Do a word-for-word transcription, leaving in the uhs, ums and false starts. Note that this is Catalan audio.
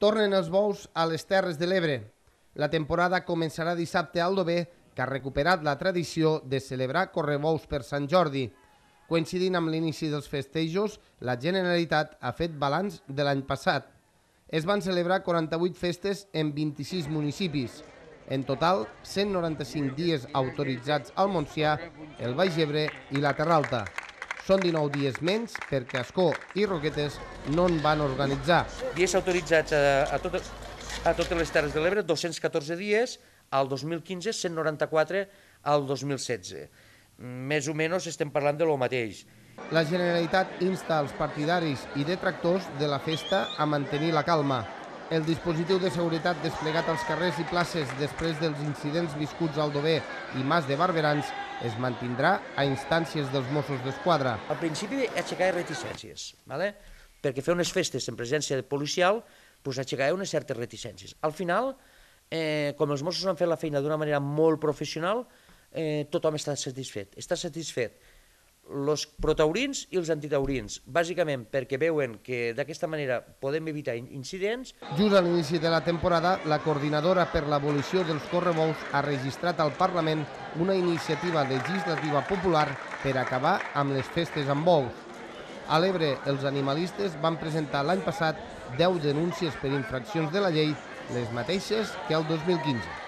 Tornen els bous a les Terres de l'Ebre. La temporada començarà dissabte a Aldover, que ha recuperat la tradició de celebrar correbous per Sant Jordi. Coincidint amb l'inici dels festejos, la Generalitat ha fet balanç de l'any passat. Es van celebrar quaranta-vuit festes en vint-i-sis municipis. En total, cent noranta-cinc dies autoritzats al Montsià, el Baix Ebre i la Terra Alta. Són dinou dies menys perquè Ascó i Roquetes no en van organitzar. Dies autoritzats a, a, totes, a totes les Terres de l'Ebre, dos-cents catorze dies, al dos mil quinze, cent noranta-quatre al dos mil setze. Més o menys estem parlant de lo mateix. La Generalitat insta als partidaris i detractors de la festa a mantenir la calma. El dispositiu de seguretat desplegat als carrers i places després dels incidents viscuts al Aldover i Mas de Barberans es mantindrà a instàncies dels Mossos d'Esquadra. Al principi aixecar reticències, ¿vale? Perquè fer unes festes en presència policial pues, aixecar unes certes reticències. Al final, eh, com els Mossos han fet la feina d'una manera molt professional, eh, tothom està satisfet. Està satisfet els protaurins i els antitaurins, bàsicament perquè veuen que d'aquesta manera podem evitar incidents. Just a l'inici de la temporada, la coordinadora per l'abolició dels correbous ha registrat al Parlament una iniciativa legislativa popular per acabar amb les festes amb bous. A l'Ebre, els animalistes van presentar l'any passat deu denúncies per infraccions de la llei, les mateixes que el dos mil quinze.